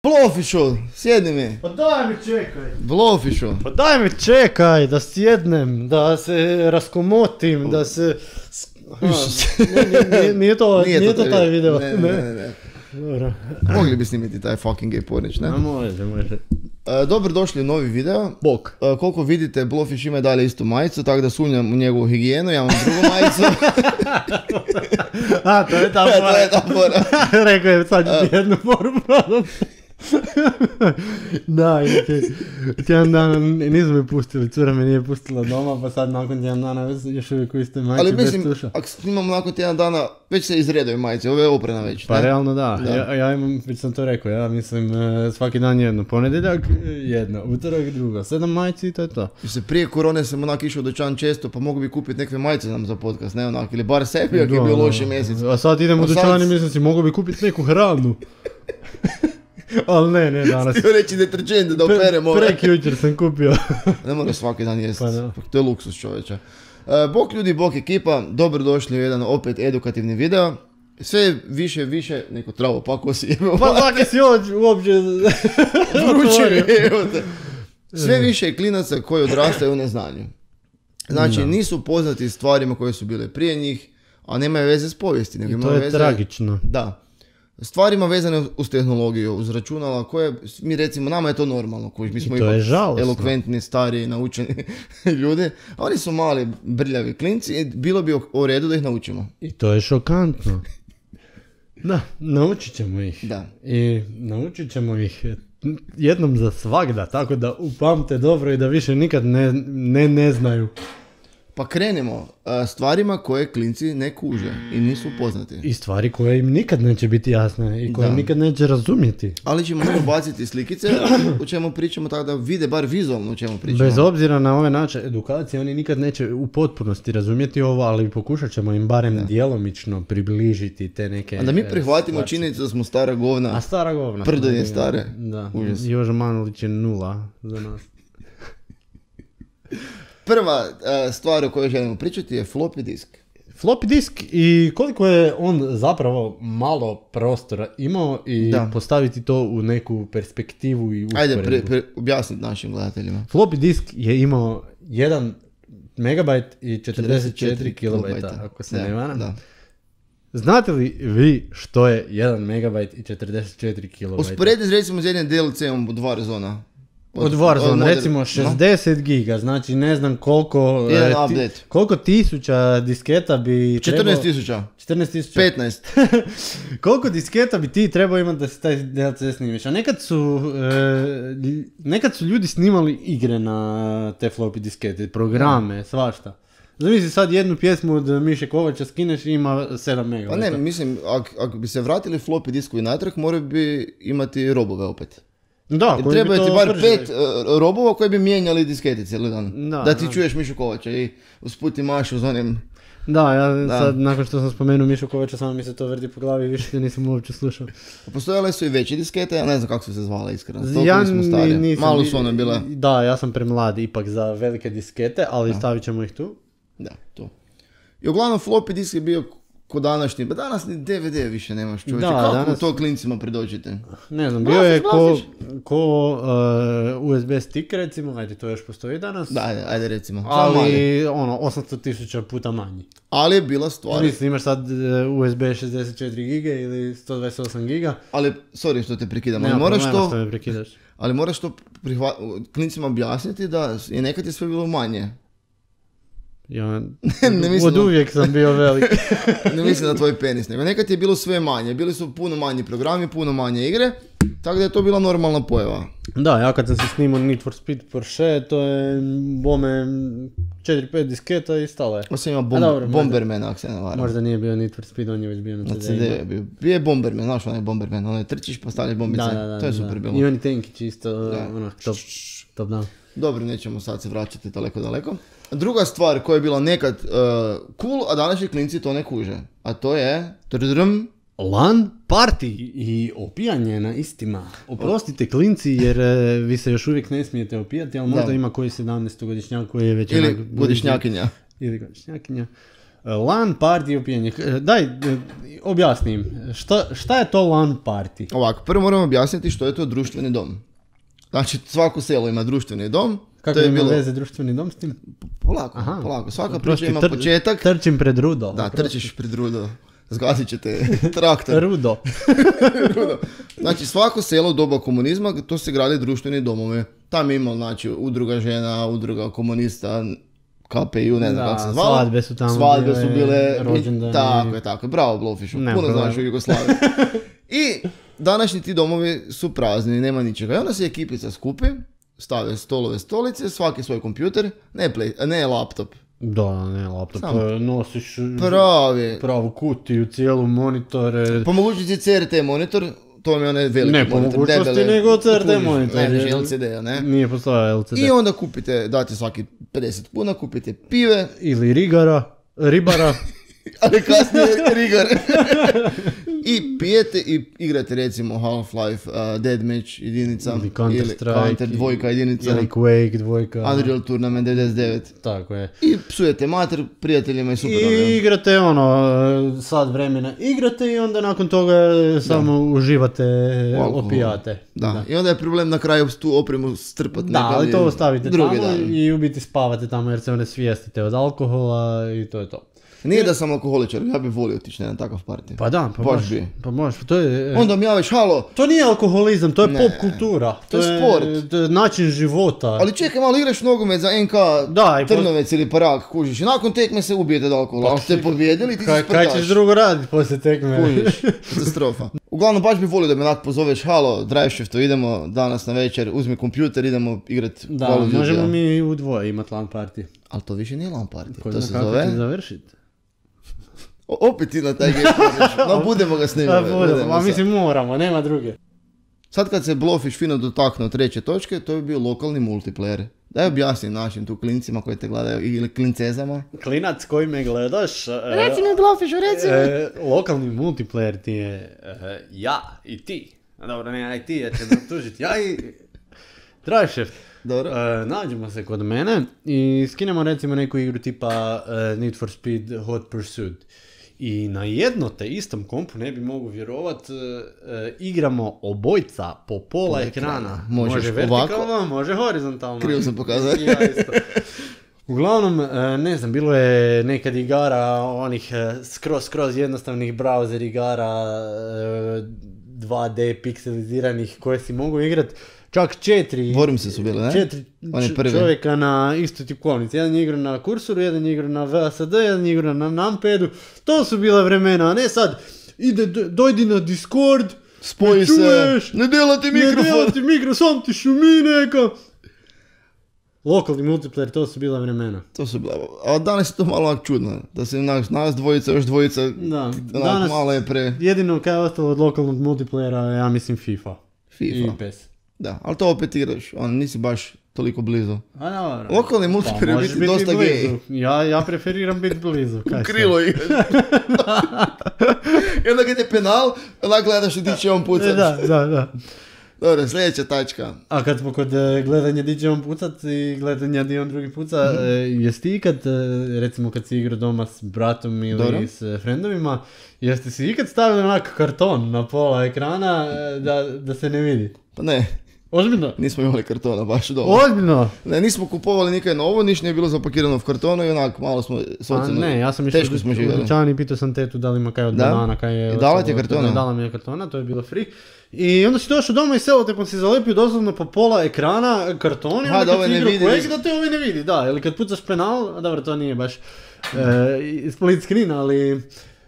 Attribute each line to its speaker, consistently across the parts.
Speaker 1: Blofišu, sjedni mi.
Speaker 2: Pa daj mi čekaj.
Speaker 1: Blofišu.
Speaker 2: Pa daj mi čekaj da sjednem, da se raskomotim, da se... Nije to taj video.
Speaker 1: Ne.
Speaker 2: Dobro.
Speaker 1: Mogli bi snimiti taj fucking gay pornić, ne?
Speaker 2: Može.
Speaker 1: Dobrodošli u novi video.
Speaker 2: Bok.
Speaker 1: Koliko vidite, Blofiš ima dalje istu majicu, tako da sumnjam u njegovu higijenu, ja imam drugu majicu.
Speaker 2: A, to je ta fora.
Speaker 1: To je ta fora.
Speaker 2: Rekao je, sad ću jednu foru prodam. Da, tjedan dana nisu me pustili, cura me nije pustila doma, pa sad nakon tjedan dana još uvijek u istoj majici bez tuša. Ali mislim,
Speaker 1: ako snimamo nakon tjedan dana, već se izredaju majice, ovo je oprana već.
Speaker 2: Pa ne? Realno da. Ja imam, već sam to rekao, ja mislim svaki dan jedno, ponedjeljak jedno, utorak drugo, 7 majici i to je to. Se
Speaker 1: prije korone sam onak išao u dućan često, pa mogu bi kupiti nekve majice nam za podcast, ne onak, ili bar sebi, ako je bio loši mjesec.
Speaker 2: A sad idem u dućan i mislim si, mogu bi kupiti neku hranu. Ali ne, danas.
Speaker 1: Htio reći deterđent da operemo.
Speaker 2: Prekjučer sam kupio.
Speaker 1: Ne mora svaki dan jesti,
Speaker 2: pa
Speaker 1: to je luksus čovječa. Bok ljudi, bok ekipa, dobrodošli u jedan opet edukativni video. Sve više, neko travo, pa ko si jebao.
Speaker 2: Pa zake si uopće
Speaker 1: vrući. Sve više klinaca koji odrastaju u neznanju. Znači nisu poznati stvarima koje su bile prije njih, a nemaju veze s povijesti.
Speaker 2: I to je tragično.
Speaker 1: Da. Stvarima vezane uz tehnologiju, uz računala koje, mi recimo, nama je to normalno, mi smo ipak elokventni, stari, naučeni ljudi, a oni su mali, brljavi klinci i bilo bi u redu da ih naučimo.
Speaker 2: I to je šokantno. Da, naučit ćemo ih.
Speaker 1: Da.
Speaker 2: I naučit ćemo ih jednom za svagda, tako da upamte dobro i da više nikad ne znaju.
Speaker 1: Pa krenimo stvarima koje klinci ne kuže i nisu poznati.
Speaker 2: I stvari koje im nikad neće biti jasne i koje nikad neće razumjeti.
Speaker 1: Ali ćemo baciti slikice u čemu pričamo, tako da vide bar vizualno u čemu pričamo.
Speaker 2: Bez obzira na ove naše edukacije, oni nikad neće u potpunosti razumjeti ovo, ali pokušat ćemo im barem djelomično približiti te neke...
Speaker 1: A da mi prihvatimo činjenicu da smo stara govna.
Speaker 2: A stara govna.
Speaker 1: Prdo je stare.
Speaker 2: Da, Joža Manulić je 0 za nas.
Speaker 1: Prva stvar o kojoj želimo pričati je floppy disk.
Speaker 2: Floppy disk i koliko je on zapravo malo prostora imao i postaviti to u neku perspektivu i usporedbu.
Speaker 1: Ajde, objasniti našim gledateljima.
Speaker 2: Floppy disk je imao 1 megabajt i 44 kilobajta, ako se ne varam. Da. Znate li vi što je 1 megabajt i 44 kilobajta?
Speaker 1: Usporediti recimo s jednim DLC-om od Warzona.
Speaker 2: Od Warzone, recimo 60 giga, znači ne znam koliko tisuća disketa bi
Speaker 1: 14.000. 15.
Speaker 2: Koliko disketa bi ti trebao imati da se taj DLC snimiš? A nekad su ljudi snimali igre na te floppy diskete, programe, svašta. Zamisli sad jednu pjesmu od Miše Kovača skineš i ima 7 megabajta.
Speaker 1: Pa ne, mislim, ako bi se vratili floppy diskovi natrag, moraju bi imati robove opet.
Speaker 2: Da,
Speaker 1: treba ti bar 5 robova koji bi mijenjali diskete cijeli dan. Da ti čuješ Mišu Kovača i usput ti mašu z onim...
Speaker 2: Da, sad nakon što sam spomenuo Mišu Kovača, samo mi se to vrti po glavi i više nisam uopće slušao.
Speaker 1: Postojale su i veće diskete, ja ne znam kako su se zvala iskreno. Malo su one bile.
Speaker 2: Da, ja sam premlad ipak za velike diskete, ali stavit ćemo ih tu.
Speaker 1: Da, to. I uglavnom floppy disk je bio ko današnji, pa danas ni DVD više nemaš čovječe, kako to klincima predođete?
Speaker 2: Ne znam, bio je ko USB stick recimo, ajde to još postoji danas.
Speaker 1: Da, ajde recimo.
Speaker 2: Ali 800.000 puta manji.
Speaker 1: Ali je bila stvar.
Speaker 2: Mislim, imaš sad USB 64 giga ili 128 giga.
Speaker 1: Ali, sorry što te prekidam, ali moraš to klincima objasniti da je nekad je sve bilo manje.
Speaker 2: Ja od uvijek sam bio velik.
Speaker 1: Ne mislim na tvoj penis, nego nekad je bilo sve manje. Bili su puno manji programi, puno manje igre, tako da je to bila normalna pojava.
Speaker 2: Da, ja kad sam se snimao Need for Speed Porsche, to je bome 4-5 disketa i stalo je.
Speaker 1: Osim ima Bomberman, ako se ne varam.
Speaker 2: Možda nije bio Need for Speed, on je već bio na CD.
Speaker 1: Bio je Bomberman, znaš onaj Bomberman, onaj trčiš pa stavljaš bombice, to je super bilo.
Speaker 2: I oni tenkići isto, top down.
Speaker 1: Dobro, nećemo sad se vraćati daleko. Druga stvar koja je bila nekad cool, a današnji klinci to ne kuže. A to je...
Speaker 2: LAN party i opijanje na istima. Oprostite klinci jer vi se još uvijek ne smijete opijati, ali možda ima koji 17-godišnjak koji je već...
Speaker 1: Ili godišnjakinja.
Speaker 2: LAN party opijanje. Daj, objasnim. Šta je to LAN party?
Speaker 1: Ovako, prvo moramo objasniti što je to društveni dom. Znači, svako selo ima društveni dom.
Speaker 2: Kako ima veze društveni dom s tim?
Speaker 1: Polako. Svaka priča ima početak.
Speaker 2: Trčim pred rudo.
Speaker 1: Da, trčiš pred rudo. Zgasit će te traktor.
Speaker 2: Rudo.
Speaker 1: Znači, svako selo u doba komunizma, to se gradi društveni domove. Tam ima, znači, udruga žena, udruga komunista, KPU, ne znam kako se zvala.
Speaker 2: Svadbe su tamo
Speaker 1: bile.
Speaker 2: Rođendani.
Speaker 1: Tako je. Bravo, Blowfishu. Puno znaš u Jugoslaviji. I današnji ti domovi su prazni, nema ničega. I onda se ekipica skupi, stave stolove, stolice, svaki svoj kompjuter, ne laptop.
Speaker 2: Da, ne laptop, nosiš pravu kutiju, cijelu monitore.
Speaker 1: Po mogućnosti CRT monitor, to mi je onaj veliki monitor.
Speaker 2: Ne po mogućnosti nego CRT monitor.
Speaker 1: Ne, LCD-a, ne?
Speaker 2: Nije postojao LCD.
Speaker 1: I onda kupite, date svaki 50 kuna, kupite pive.
Speaker 2: Ili ribara.
Speaker 1: Ali kasnije rigar. I pijete i igrate recimo Half-Life, Deathmatch jedinica.
Speaker 2: Ili Counter-Strike.
Speaker 1: Counter 2 jedinica.
Speaker 2: Ili Quake 2.
Speaker 1: Unreal Tournament 99.
Speaker 2: Tako je.
Speaker 1: I psujete mater prijateljima i super.
Speaker 2: I igrate sat vremena. Igrate i onda nakon toga samo uživate opijate.
Speaker 1: Da. I onda je problem na kraju tu opremu strpati.
Speaker 2: Da, ali to ostavite tamo i u biti spavate tamo jer se one svijestite od alkohola i to je to.
Speaker 1: Nije da sam alkoholičar, ja bih volio otići na takav party.
Speaker 2: Pa da, pa možeš. To je,
Speaker 1: onda mi javiš, halo.
Speaker 2: To nije alkoholizam, to je pop kultura.
Speaker 1: To je sport.
Speaker 2: To je način života.
Speaker 1: Ali čekaj, malo igraš nogomet za NK Trnovec ili Parag, kužiš. I nakon tekme se ubijete od alkohola. Ako ste pobjedili, ti se sprdaš.
Speaker 2: Kaj ćeš drugo raditi poslije tekme?
Speaker 1: Kužiš, katastrofa. Uglavnom, baš bih volio da me onak pozoveš, halo, drive shiftu, idemo danas na večer, uzmi kompjuter, idemo igrati.
Speaker 2: Da, možemo mi u dvoje imati LAN party.
Speaker 1: Ali to više nije LAN party.
Speaker 2: To se zove? Završiti.
Speaker 1: Opet ti na taj game no budemo ga snimati.
Speaker 2: Ma mislim moramo, nema druge.
Speaker 1: Sad kad se Blowfish fino dotaknuo treće točke, to bi bio lokalni multiplayer. Daj objasni način tu klincima koji te gledaju ili klincezama.
Speaker 2: Klinac koji me gledaš.
Speaker 1: Reci mi Blowfishu, reci mi.
Speaker 2: Lokalni multiplayer ti je ja i ti. Dobro, ne ja i ti, ja ću me tužiti. Ja i Drive Shift.
Speaker 1: Dobro.
Speaker 2: Nađemo se kod mene i skinemo recimo neku igru tipa Need for Speed Hot Pursuit. I na jedno te istom kompu, ne bi mogu vjerovat, igramo obojca po pola ekrana. Može vertikalno, može horizontalno.
Speaker 1: Krivo sam pokazao.
Speaker 2: Ja isto. Uglavnom, ne znam, bilo je nekad igara onih skroz jednostavnih browser igara 2D pikseliziranih koje si mogu igrat. Čak 4
Speaker 1: Wormse su bile, ne?
Speaker 2: 4 čovjeka na istoj tipkovnici. Jedan je igra na kursuru, jedan je igra na VSD, jedan je igra na numpadu. To su bila vremena, a ne sad dojdi na Discord,
Speaker 1: spoji se, ne delati mikrofon,
Speaker 2: sam ti šumi neka. Lokalni multiplayer, to su bila vremena.
Speaker 1: To su bila, a danas je to malo čudno, da se nas dvojica, još dvojica,
Speaker 2: da, danas
Speaker 1: malo je
Speaker 2: jedino kaj je ostalo od lokalnog multiplayera, ja mislim FIFA. I PES.
Speaker 1: Da, ali to opet igraš, nisi baš toliko blizu.
Speaker 2: A dobro.
Speaker 1: Lokalni multiplayer biti dosta gej.
Speaker 2: Ja preferiram biti blizu.
Speaker 1: U krilo igraš. I onda kad je penal, onda gledaš di će on pucat.
Speaker 2: Da.
Speaker 1: Dobro, sljedeća tačka.
Speaker 2: A kad smo kod gledanja di će on pucat i gledanja di on drugi puca, jesi ti ikad, recimo kad si igrao doma s bratom ili s frendovima, jeste si ikad stavili onak karton na pola ekrana da se ne vidi?
Speaker 1: Pa ne.
Speaker 2: Ozbiljno?
Speaker 1: Nismo imali kartona baš doma.
Speaker 2: Ozbiljno?
Speaker 1: Ne, nismo kupovali nikaj novo, niš nije bilo zapakirano u kartonu i onak malo smo socijalno,
Speaker 2: ne, ja sam
Speaker 1: teško smo živjeli.
Speaker 2: Učan i pitao sam tetu da li ima kaj od banana, kaj je...
Speaker 1: I dala ti je kartona?
Speaker 2: Dala mi je kartona, to je bilo free. I onda si došao doma i selotepom si zalepio doslovno po pola ekrana karton i onda kad si igrao Quake da te ovaj ne vidi, da. Ili kad pucaš penal, dobro to nije baš split screen, ali...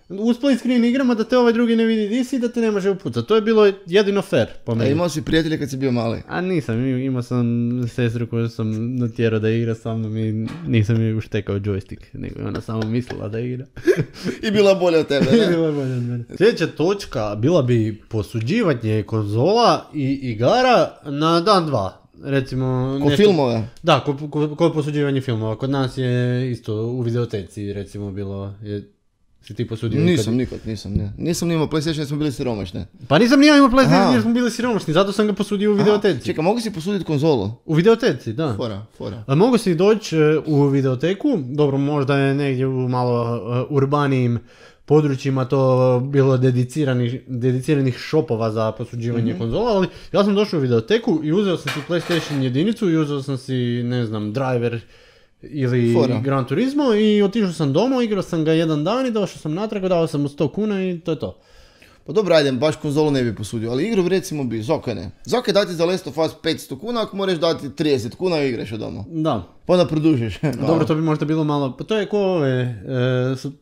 Speaker 2: U split screen igrama da te ovaj drugi ne vidi di si da te ne može upucati. To je bilo jedino fair po meni.
Speaker 1: A imao si prijatelje kad si bio mali?
Speaker 2: A nisam, imao sam sestru koju sam natjerao da igra sa mnom i nisam joj uštekao joystick, nego je ona samo mislila da igra.
Speaker 1: I bila bolja od tebe, ne?
Speaker 2: I bila bolja od mene. Sljedeća točka bila bi posuđivanje konzola i igara na dan dva. Recimo...
Speaker 1: Ko filmove?
Speaker 2: Da, ko posuđivanje filmova. Kod nas je isto u videoteci recimo bilo... Si ti posudio?
Speaker 1: Nisam imao PlayStation jer smo bili siromašni.
Speaker 2: Pa nisam ni ja imao PlayStation jer smo bili siromašni, zato sam ga posudio u videoteci.
Speaker 1: Čekaj, mogu si posuditi konzolu?
Speaker 2: U videoteci, da.
Speaker 1: Fora.
Speaker 2: A mogu si doći u videoteku, dobro, možda je negdje u malo urbanijim područjima to bilo dediciranih shopova za posuđivanje konzola, ali ja sam došao u videoteku i uzeo sam si PlayStation jedinicu i uzeo sam si, ne znam, Driver ili Gran Turismo i otišao sam doma, igrao sam ga jedan dan i došao sam natrag, dao sam mu 100 kuna i to je to.
Speaker 1: Pa dobro, ajde, baš konzolu ne bi posudio, ali igru recimo bi, Zoka ne. Zoka dati za Last of Us 500 kuna ako moraš dati 30 kuna i igraš od doma.
Speaker 2: Da.
Speaker 1: Pa onda produžiš.
Speaker 2: Dobro, to bi možda bilo malo, pa to je ko ove su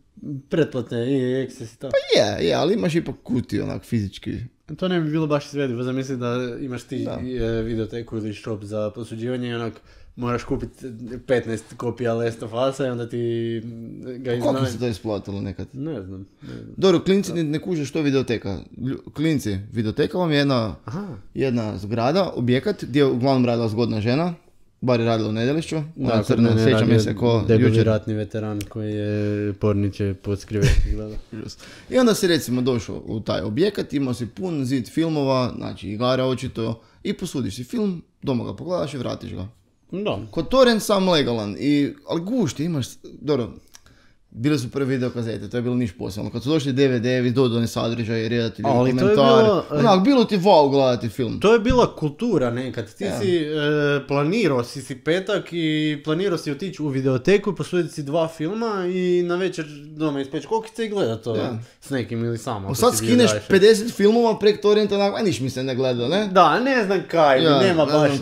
Speaker 2: pretplate i Access i to.
Speaker 1: Pa je, ali imaš ipak kutiju onak fizički.
Speaker 2: To ne bi bilo baš izvedivo, zamisli da imaš ti videoteku ili shop za posuđivanje i onak moraš kupiti 15 kopija Last of Us-a i onda ti ga iznajmi.
Speaker 1: Kako se to isplatilo nekad?
Speaker 2: Ne znam.
Speaker 1: Dobro, klinci ne kuže što je videoteka. Klinci, videoteka vam je jedna zgrada, objekat gdje je uglavnom radila zgodna žena. Bar je radila u Nedelišću.
Speaker 2: Da, crna ne radi debeli ratni veteran koji je porniče pod skrivećih gleda.
Speaker 1: I onda si recimo došao u taj objekat, imao si pun zid filmova, znači igara očito, i posudiš si film, doma ga pogledaš i vratiš ga.
Speaker 2: Da.
Speaker 1: Kod torrent sam legalan, ali gušti imaš, dobro, bile su prve videokazete, to je bilo niš posebno. Kad su došli DVD-evi, dodani sadržaj, redatelji, komentari, bilo ti wow gledati film.
Speaker 2: To je bila kultura nekad. Ti si planirao si petak i planirao si otići u videoteku i posuditi si 2 filma i na večer doma ispeći kokice i gledat to s nekim ili samo.
Speaker 1: Sad skineš 50 filmova prek torrenta, niš mi se ne gleda, ne?
Speaker 2: Da, ne znam kaj, nema baš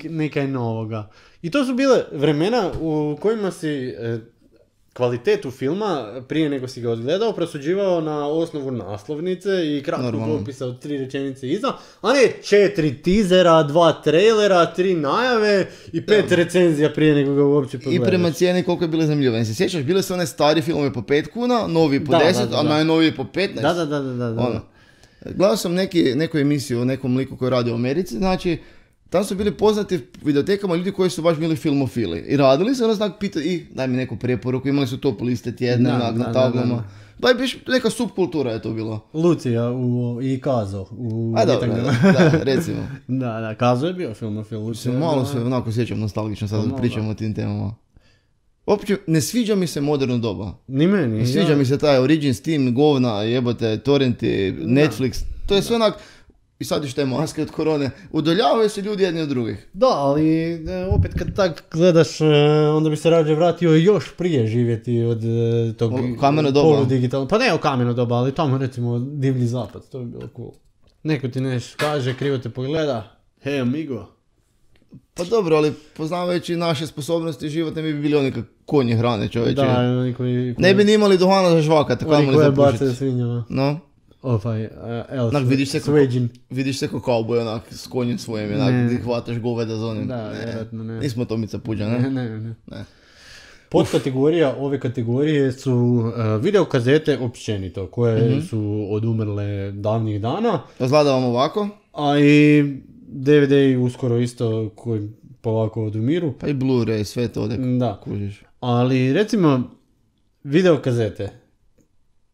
Speaker 2: nekaj novoga. I to su bile vremena u kojima si kvalitetu filma, prije nego si ga odgledao, prosuđivao na osnovu naslovnice i kratkog opisa od 3 rečenice iza, a ne 4 tizera, 2 trailera, 3 najave i 5 recenzija prije nego ga uopće pogledaš.
Speaker 1: I prema cijeni koliko je bilo zanimljivo. Se sjećaš, bile su one stari filmove po 5 kuna, novi po 10, a najnoviji po 15.
Speaker 2: Da.
Speaker 1: Gledao sam neku emisiju o nekom liku koji radi u Americi, znači tam su bili poznati videotekama ljudi koji su baš bili filmofili. I radili se, onda pitao, daj mi neku preporuku, imali su top liste tjedne na tablama. Da je biš neka subkultura je to bilo.
Speaker 2: Lucija i Kazo.
Speaker 1: Recimo.
Speaker 2: Da, Kazo je bio filmofil.
Speaker 1: Malo se onako sjećam nostalgično sad pričamo o tim temama. Uopće, ne sviđa mi se moderno doba.
Speaker 2: Ni meni.
Speaker 1: Ne sviđa mi se taj Origin, Steam, govna, jebote, torrenti, Netflix. To je sve onak. I sad još te maske od korone, udaljavaju se ljudi jedni od drugih.
Speaker 2: Da, ali opet kad tak gledaš, onda bi se rađe vratio još prije živjeti od tog poludigitalnog. Pa ne o kameno doba, ali tamo recimo Divlji zapad, to bi bilo cool. Neko ti nešto kaže, krivo te pogleda, hej amigo.
Speaker 1: Pa dobro, ali poznavajući naše sposobnosti život ne bi bili oni konji hrane čovječe.
Speaker 2: Da,
Speaker 1: ne bi ni imali duhana za žvakati,
Speaker 2: oni koje bace svinjama.
Speaker 1: No. Vidiš se ko kauboj onak s konjem svojim, onak ti hvataš goveda za onim.
Speaker 2: Da, vjerojatno ne.
Speaker 1: Nismo Tomica Puđa, ne?
Speaker 2: Ne. Podkategorija ove kategorije su videokazete općenito, koje su odumrle davnih dana.
Speaker 1: Razgledavam ovako.
Speaker 2: A i DVD uskoro isto koji polako odumiru.
Speaker 1: Pa i Blu-ray, sve to ode kužiš.
Speaker 2: Ali recimo videokazete.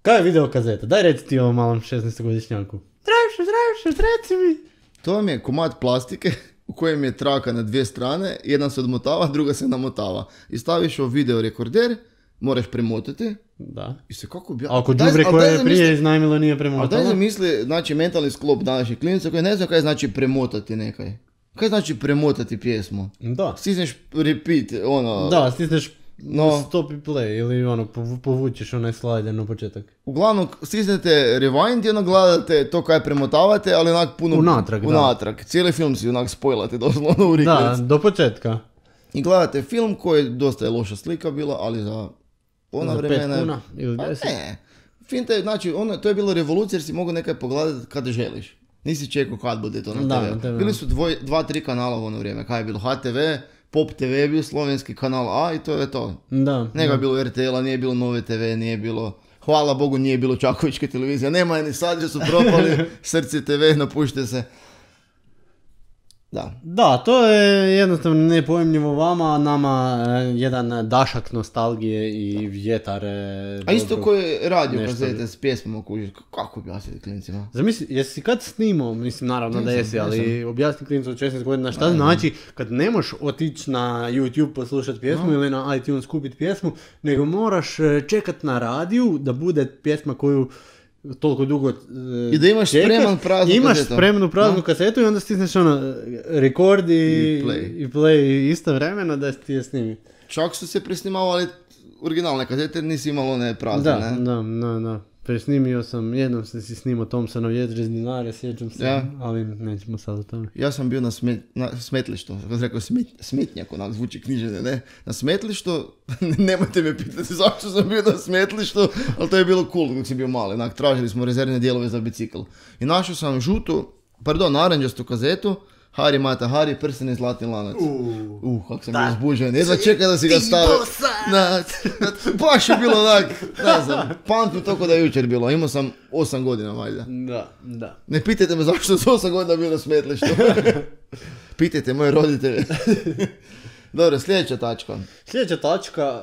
Speaker 2: Kaj je videokazeta? Daj reci ti ovom malom 16-godišnjaku. Zdravšo, reci mi.
Speaker 1: To vam je komad plastike u kojem je traka na 2 strane, jedna se odmotava, druga se namotava. I staviš u video rekorder, moraš premotati.
Speaker 2: Da.
Speaker 1: I se kako bi...
Speaker 2: Ako đubre koje je prije iznajmilo nije premotalo?
Speaker 1: A daj zamisli, znači mentalni sklop današnjih klinaca koji ne znam kaj znači premotati nekaj. Kaj znači premotati pjesmu?
Speaker 2: Da.
Speaker 1: Stisneš repeat, ono...
Speaker 2: Da, stisneš stop i play ili povučeš onaj slider na početak.
Speaker 1: Uglavnom stisnete rewind i ono gledate to kaj premotavate, ali onak puno unatrag. Cijeli film si onak spojlate doslovno u reklec.
Speaker 2: Da, do početka.
Speaker 1: I gledate film koji dosta je loša slika bila, ali za ona vremena...
Speaker 2: 5 kuna ili 10?
Speaker 1: Ne. Finte, znači to je bilo revolucija jer si mogu nekaj pogledati kada želiš. Nisi čekao kad bude to na TV. Bili su 2-3 kanala u ono vrijeme. Kaj je bilo? HTV, Pop TV je bio slovenski kanal A i to je to. Nego je bilo RTL-a, nije bilo Nove TV, nije bilo... Hvala Bogu nije bilo Čakovičke televizije. Nema ni sad, že su propali. Srce TV, napušte se.
Speaker 2: Da, to je jednostavno nepojmljivo vama, nama jedan dašak nostalgije i vjetar.
Speaker 1: A isto koji radio kazete s pjesmama kako objasniti klincima?
Speaker 2: Zamisli, jesi kad snimao, mislim naravno da jesi, ali objasni klincu od 16 godina šta znači kad ne možeš otići na YouTube poslušati pjesmu ili na iTunes kupiti pjesmu, nego moraš čekat na radiju da bude pjesma koju toliko dugo
Speaker 1: i da imaš spreman praznu
Speaker 2: imaš kazetu. Spremnu praznu kasetu i onda stisneš record i play istovremeno da ti je snimi.
Speaker 1: Čak su se presnimavali originalne kazete, nisi imalo one prazne, ne?
Speaker 2: Da. Presnimio sam, jednom sam si snimao Thompsonov Jedre s dinare, sjećam se, ali nećemo sad o tome.
Speaker 1: Ja sam bio na smetlištu, kako sam rekao smetnjak, onak zvuči knjižene, ne? Na smetlištu, nemojte me pitati zašto sam bio na smetlištu, ali to je bilo cool dok si bio mali, onak tražili smo rezervne dijelove za bicikl. I našao sam naranđastu kazetu, Hari Mata Hari, prsten i zlatni lanac. Kako sam bio uzbuđen. Jedva čekaj da si ga stavio. Baš je bilo onak, ne znam, pamtim toko da je jučer bilo. Imao sam 8 godina valjda.
Speaker 2: Da.
Speaker 1: Ne pitajte me zašto sam 8 godina bio na smetlištu. Pitajte moje roditelje. Dobro, sljedeća tačka.
Speaker 2: Sljedeća tačka,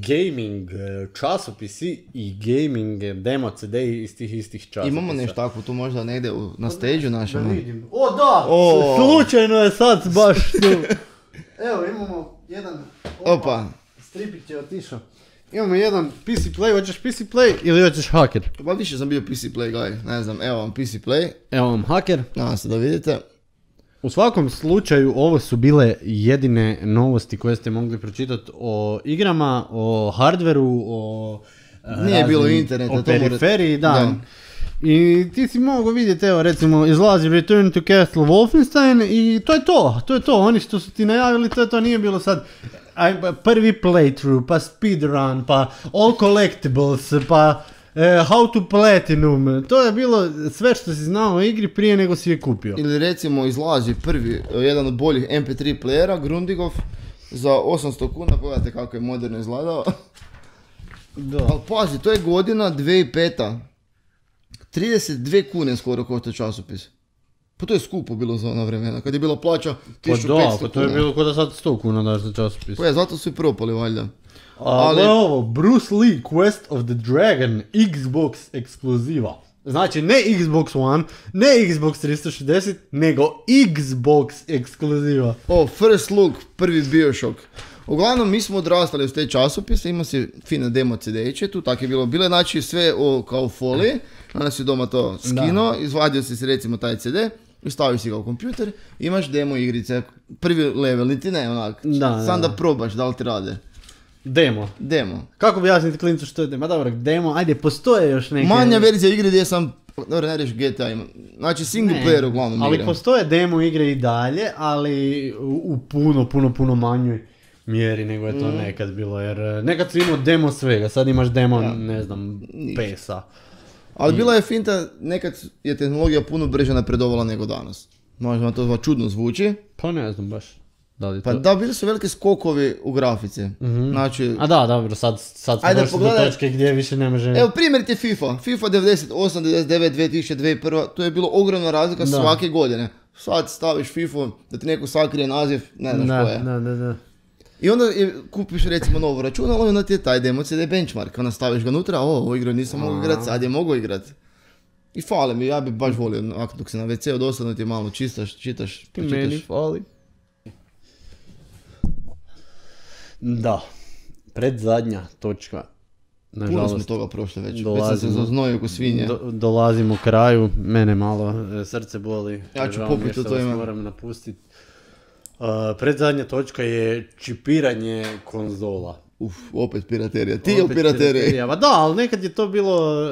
Speaker 2: gaming časopisi i gaming demo CD iz tih istih časopisa.
Speaker 1: Imamo nešto tako tu možda negdje na stage-u našem.
Speaker 2: Da vidim. Slučajno je sad baš tu. Evo imamo jedan...
Speaker 1: Opa.
Speaker 2: Stripić je otišao. Imamo jedan PC Play, hoćeš PC Play ili hoćeš Hacker?
Speaker 1: Pa više sam bio PC Play guy, ne znam, evo vam PC Play.
Speaker 2: Evo vam Hacker.
Speaker 1: Nadam se da vidite.
Speaker 2: U svakom slučaju ovo su bile jedine novosti koje ste mogli pročitati o igrama, o hardveru, o
Speaker 1: nije bilo interneta,
Speaker 2: o periferiji, da. I ti si mogao vidjeti, evo recimo izlazi Return to Castle Wolfenstein i to je to, oni što su ti najavili, to nije bilo sad prvi playthrough, pa speedrun, pa all collectibles, pa how to platinum, to je bilo sve što si znao o igri prije nego si je kupio.
Speaker 1: Ili recimo izlazi prvi, jedan od boljih MP3 playera, Grundigov, za 800 kuna, pogledajte kako je moderno izgledao. Ali pazi, to je godina 2005. 32 kune skoro košta časopis. Pa to je skupo bilo za ona vremena, kad je bila plaća 1500 kuna.
Speaker 2: Pa to je bilo kod da sad 100 kuna daš za časopis.
Speaker 1: Pa zato su i propali valjda.
Speaker 2: Ali ovo, Bruce Lee Quest of the Dragon Xbox ekskluziva. Znači ne Xbox One, ne Xbox 360, nego Xbox ekskluziva.
Speaker 1: First look, prvi Bioshock. Uglavnom, mi smo odrastali uz te časopise, ima si fine demo CD-iće, tu tako je bilo. Bile znači sve kao folije, onda si doma to skino, izvadio si recimo taj CD i stavio si ga u kompjuter, imaš demo igrice, prvi level, niti ne onak, sam da probaš da li ti rade.
Speaker 2: Demo. Kako bi jasniti klincu što je demo? Dobro, demo, ajde, postoje još neke...
Speaker 1: Manja verzija igre gdje sam, dobro, ne reći GTA ima, znači single player uglavnom
Speaker 2: ali igram. Postoje demo igre i dalje, ali u puno manjoj mjeri nego je to nekad bilo, jer nekad si imao demo svega, sad imaš demo, ne znam, PES-a.
Speaker 1: Ali bila je finta, nekad je tehnologija puno brže napredovala nego danas. Možda to čudno zvuči.
Speaker 2: Pa ne znam baš.
Speaker 1: Da, bili su velike skokovi u grafici. Znači...
Speaker 2: A da, dobro, sad smo došli do točke gdje više ne može...
Speaker 1: Evo, primjer ti FIFA 98, 99, 2000, 2001, to je bilo ogromna razlika svake godine. Sad staviš FIFA, da ti neko sakrije naziv, ne znaš ko je.
Speaker 2: Da.
Speaker 1: I onda kupiš recimo novo računalo i onda ti je taj demo CD benchmark. Onda staviš ga unutra, ovo igru nisam mogao igrati, sad je mogo igrati. I fali mi, ja bi baš volio, dok se na WC-u dosadno ti malo čitaš.
Speaker 2: Meni fali. Da, predzadnja točka.
Speaker 1: Puno smo toga prošli već sam se zaznojio ko svinje.
Speaker 2: Dolazimo kraju, mene malo srce boli.
Speaker 1: Ja ću popiti to ime.
Speaker 2: Moram napustiti. Predzadnja točka je čipiranje konzola.
Speaker 1: Opet piraterija. Ti opet piraterija.
Speaker 2: Da, ali nekad je to bilo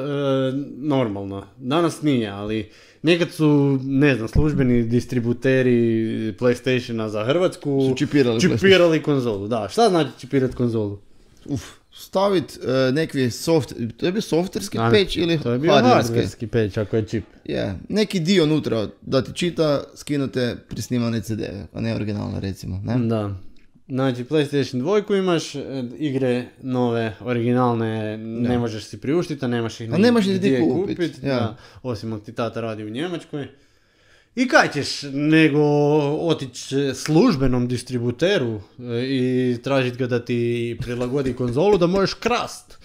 Speaker 2: normalno. Danas nije, ali nekad su, ne znam, službeni distributeri PlayStationa za Hrvatsku
Speaker 1: su
Speaker 2: čipirali konzolu. Da, šta znači čipirati konzolu?
Speaker 1: Staviti neki to je bio softverski patch ili hardverski?
Speaker 2: To je bio hardverski patch ako je čip.
Speaker 1: Neki dio unutra da ti čita, skinute prisnimane CD-e, a ne originalne recimo. Ne?
Speaker 2: Da. Znači PlayStation 2 imaš, igre nove, originalne, ne možeš si priuštiti, a nemaš ih gdje kupiti. Osim ako ti tata radi u Njemačkoj. I kaj ćeš nego otići službenom distributeru i tražiti ga da ti prilagodi konzolu da možeš krast.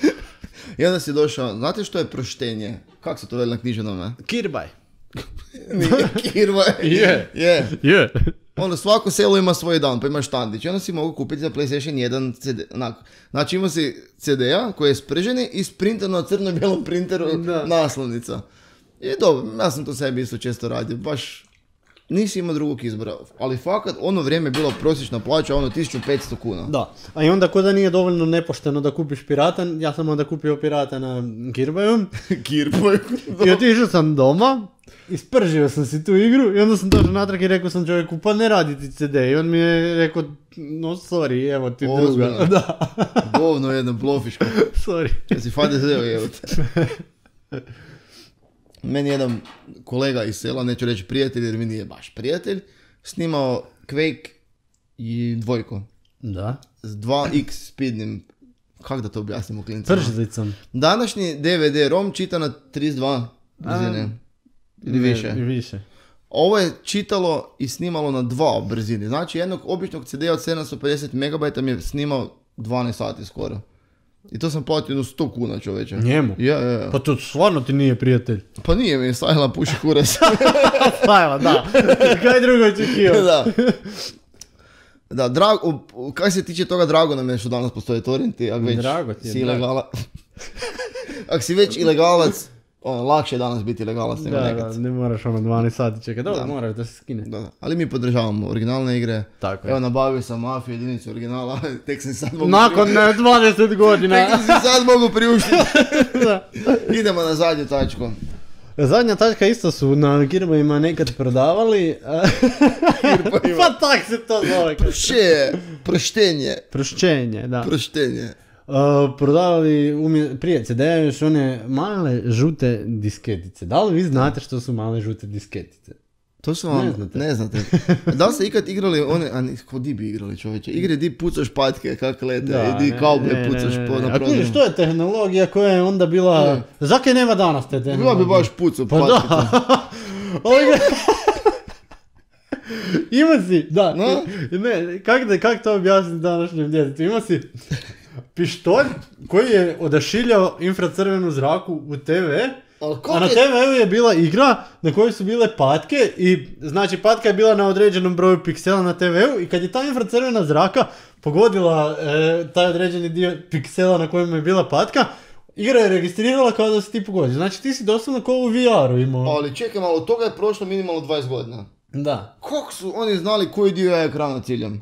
Speaker 1: I onda si došao, znate što je proštenje? Kako se to veli na knjiženome?
Speaker 2: Kirbaj.
Speaker 1: Nije kirbaj.
Speaker 2: Je.
Speaker 1: Onda svako selo ima svoj dan, pa imaš štandić. I onda si mogu kupiti za PlayStation 1 CD. Znači ima si CD-a koji je sprženi i sprinter na crno-bijelom printeru naslovnica. I dobro, ja sam to sebi isto često radio, baš nisi imao drugog izbora. Ali fakat, ono vrijeme je bilo prosječna plaća, ono 1500 kuna.
Speaker 2: Da, a i onda ko da nije dovoljno nepošteno da kupiš pirata, ja sam onda kupio pirata na Kirbaju. I otišao sam doma, ispržio sam si tu igru i onda sam došao natrag i rekao sam čovjeku, pa ne radi ti CD. I on mi je rekao, no sorry, evo ti druga. Da.
Speaker 1: Govno jedna blofiška.
Speaker 2: Sorry.
Speaker 1: Ja si FDZ-o evo te. Meni jedan kolega iz sela, neću reći prijatelj jer mi nije baš prijatelj, snimao Quake i dvojko.
Speaker 2: Da.
Speaker 1: S 2x speednim, kako da to objasnimo klincima?
Speaker 2: Pržlicom.
Speaker 1: Današnji DVD-ROM čita na 32 brzine. Ili više.
Speaker 2: Više.
Speaker 1: Ovo je čitalo i snimalo na 2 brzine. Znači jednog običnog CD-a od 750 MB mi je snimao 12 sati skoro. I to sam platio 100 kuna čoveče.
Speaker 2: Njemu?
Speaker 1: Ja.
Speaker 2: Pa to stvarno ti nije prijatelj.
Speaker 1: Pa nije mi, Sajla puši kurac.
Speaker 2: Sajla, da. Kaj drugo očekivao?
Speaker 1: Da, kaj se tiče toga, drago nam je što danas postoje torrenti, ako već si ilegalac. Ako si već ilegalac, lakše je danas biti ilegalac nego nekad.
Speaker 2: Da, ne moraš 12 sati čekati, dobro, moraš da se skine.
Speaker 1: Da. Ali mi podržavamo originalne igre.
Speaker 2: Tako je.
Speaker 1: Evo, nabavio sam Mafiju, jedinicu originala, tek sam sad mogu
Speaker 2: nakon 20 godina.
Speaker 1: Tek sam sad mogu priuštiti. Idemo na zadnju tačku.
Speaker 2: Zadnja tačka isto su na Kirbajima nekad prodavali. Pa tak se to zove. Proštenje, da.
Speaker 1: Proštenje.
Speaker 2: Prodavali prije CD-a još one male žute disketice. Da li vi znate što su male žute disketice?
Speaker 1: To su vam, ne znate. Da li ste ikad igrali one, ko di bi igrali čovječe? Igre di pucaš patke, kak lete, i di kaube pucaš po napravljenu.
Speaker 2: A što je tehnologija koja je onda bila... Zakaj nema danas te tehnologije?
Speaker 1: Bila bi baš pucao patke.
Speaker 2: Pa da. Ima si, da. No? Ne, kak to objasniti današnjem djetetu? Ima si pištolj koji je odašiljao infracrvenu zraku u TV, a na TV-u je bila igra na kojoj su bile patke i znači patka je bila na određenom broju piksela na TV-u i kad je ta infracrvena zraka pogodila taj određeni dio piksela na kojem je bila patka, igra je registrirala kao da si ti pogodio. Znači ti si doslovno kao u VR-u imao.
Speaker 1: Ali čekaj malo, od toga je prošlo minimalno 20 godina.
Speaker 2: Da.
Speaker 1: Kako su oni znali koji dio je ekrana ciljam?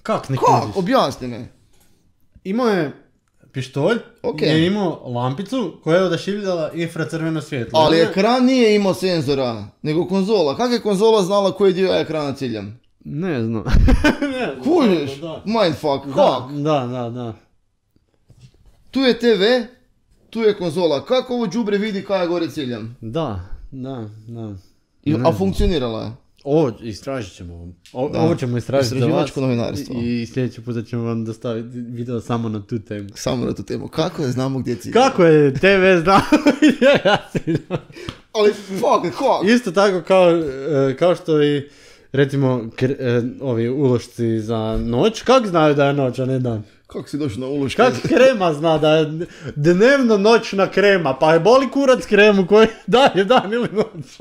Speaker 2: Kak ne
Speaker 1: kužiš? Objasni me.
Speaker 2: Imao je pištolj, je imao lampicu koja je odašiljala infracrveno svjetlo.
Speaker 1: Ali ekran nije imao senzora, nego konzola. Kako je konzola znala koji dio je ekrana ciljam?
Speaker 2: Ne znam.
Speaker 1: Kužiš? Mindfuck, kak?
Speaker 2: Da.
Speaker 1: Tu je TV, tu je konzola. Kako ovo đubre vidi kaj je gore ciljam?
Speaker 2: Da.
Speaker 1: A funkcionirala je?
Speaker 2: Ovo istražit ćemo. Ovo ćemo istražiti za vas.
Speaker 1: Novinarstvo.
Speaker 2: I sljedeći puta ćemo vam dostaviti video samo na tu temu.
Speaker 1: Samo na tu temu. Kako je znamo gdje cilj?
Speaker 2: Kako je TV znamo gdje ja ciljam?
Speaker 1: Ali fuck.
Speaker 2: Isto tako kao što i recimo ovi ulošci za noć. Kako znaju da je noć, a ne dan?
Speaker 1: Kako si došao na uloške?
Speaker 2: Kako krema zna da je dnevno noćna krema? Pa je boli kurac kremu koji daje dan ili noć?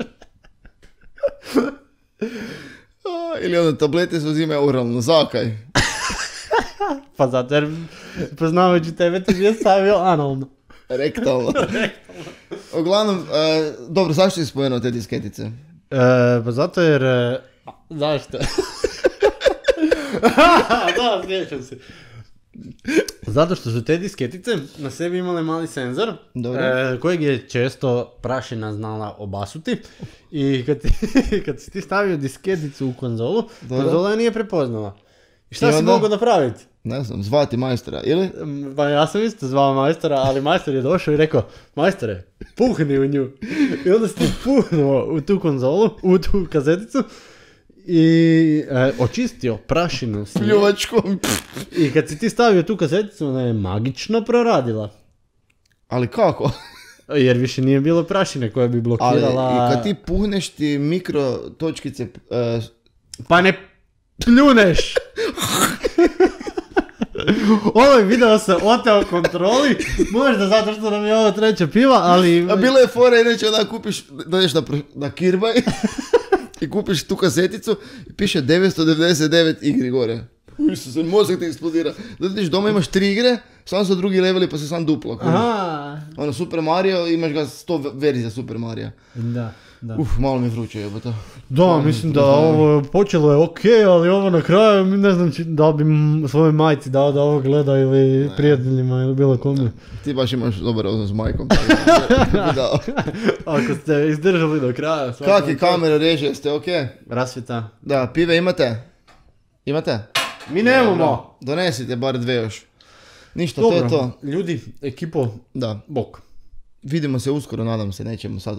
Speaker 1: Ili onda tablete se uzimaju oralno, zakaj?
Speaker 2: Pa zato jer poznavajući tebe ti je stavio analno.
Speaker 1: Rektalno. Uglavnom, dobro, zašto si spomenuo te disketice?
Speaker 2: Pa zato jer... Zašto? Da, sjećam se. Zato što su te disketice na sebi imale mali senzor kojeg je često prašina znala obasuti i kad si ti stavio disketicu u konzolu, konzola je nije prepoznala. I šta si mogao napraviti?
Speaker 1: Ne znam, zvati majstora, ili?
Speaker 2: Pa ja sam isto zvao majstora, ali majstor je došao i rekao, majstore, puhni u nju. I onda si ti puhnuo u tu konzolu, u tu kazeticu i očistio prašinu s nje.
Speaker 1: Pljuvačkom.
Speaker 2: I kad si ti stavio tu kazeticu, ona je magično proradila.
Speaker 1: Ali kako?
Speaker 2: Jer više nije bilo prašine koja bi blokirala...
Speaker 1: Ali i kad ti puhneš ti mikro točkice...
Speaker 2: Pa ne pljuneš! Ovaj video se oteo kontroli, možda zato što nam je ovo treća piva, ali...
Speaker 1: A bilo je fora, inače onda kupiš, dođeš na Kirbaj i kupiš tu kaseticu i piše 999 igri gore. Isuse, mozak ti eksplodira. Dođeš doma, imaš 3 igre, samo su drugi leveli pa se sam duplo. Ono, Super Mario, imaš ga 100 verzija Super Mario.
Speaker 2: Da.
Speaker 1: Malo mi je vruće jebota.
Speaker 2: Da, mislim da ovo počelo je okej, ali ovo na kraju, ne znam da li bi svojoj majci dao da ovo gleda ili prijateljima ili bilo kome.
Speaker 1: Ti baš imaš dobar odnos s majkom.
Speaker 2: Ako ste izdržali do kraja.
Speaker 1: Kak je kamera reže, jeste okej?
Speaker 2: Rasvjeta.
Speaker 1: Da, pive imate? Imate?
Speaker 2: Mi nemamo.
Speaker 1: Donesite bar 2 još. Ništa,
Speaker 2: dobro,
Speaker 1: to je to.
Speaker 2: Ljudi, ekipo,
Speaker 1: da.
Speaker 2: bok.
Speaker 1: Vidimo se uskoro, nadam se, nećemo sad...